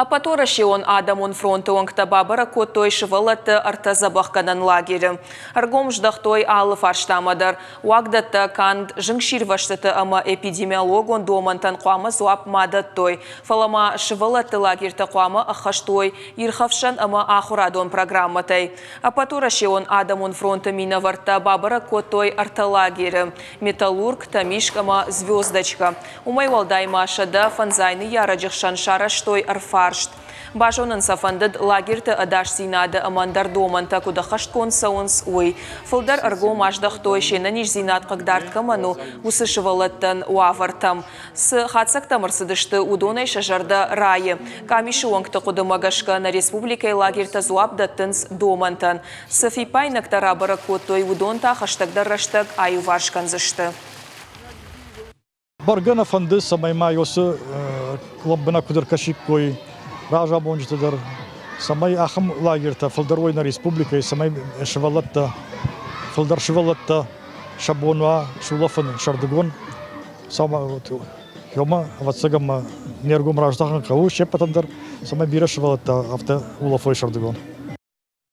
Ӕппӕтуӕрӕсеон адӕмон фронты уӕнгтӕ бабӕрӕг кодтой сывӕллӕтты ӕртӕ дзӕбӕхгӕнӕн лагеры. Ӕргом здӕхтой алы фарстамӕ дӕр. Уагдӕттӕ канд зынгсирвӕзтыты ӕмӕ эпидемиологон домӕнтӕн хъуамӕ дзуапп ма дӕттой, фӕлӕ ма сывӕллӕтты лагертӕ хъуамӕ ӕххӕст уой ирхӕфсӕн ӕмӕ ахуырадон программӕтӕй. Ӕппӕтуӕрӕсеон адӕмон фронты минӕвӕрттӕ бабӕрӕг кодтой ӕртӕ лагеры – Металлург, Тӕмискъ ӕмӕ Звездочка. Уымӕй уӕлдай ма 105 ныййарӕджы хсӕн сарӕзтой ӕрфарст. Базонын сӕ фӕндыд, лагерты ӕдасдзинады ӕмӕ ӕндӕр домӕнтӕ куыд ӕххӕстгонд цӕуынц, уый. Фылдӕр ӕргом аздӕхтой, се нӕниздзинад хъыгдард кӕмӕн у, уыцы сывӕллӕттӕн уавӕртӕм. Цы хатдзӕгтӕм ӕрцыдысты, уыдонӕй сӕ зӕрдӕ райы. Къамисы уӕнгты хъуыдымӕ гӕсгӕ нӕ республикӕйы лагертӕ дзуапп дӕттынц домӕнтӕн. Цы фиппаинӕгтӕ рабӕрӕг кодтой, уыдон та хӕстӕгдӕр рӕстӕг аиуварс кӕндзысты. Бӕргӕ нӕ фӕнды, цӕмӕй ма уыцы лӕмбынӕг куыд ӕркӕсиккой разамонджыты дӕр, цӕмӕй ахӕм лагертӕ фылдӕр уой нӕ республикӕйы, цӕмӕй сывӕллӕттӕ, фылдӕр сывӕллӕттӕ сӕ бон уа сулӕфын сӕрдыгон. Ёмӕ, ӕвӕццӕгӕн ма не ргом раздахын хъӕуы се ппӕтӕн дӕр, цӕмӕй бирӕ сывӕллӕттӕ афтӕ улӕфой сӕрдыгон.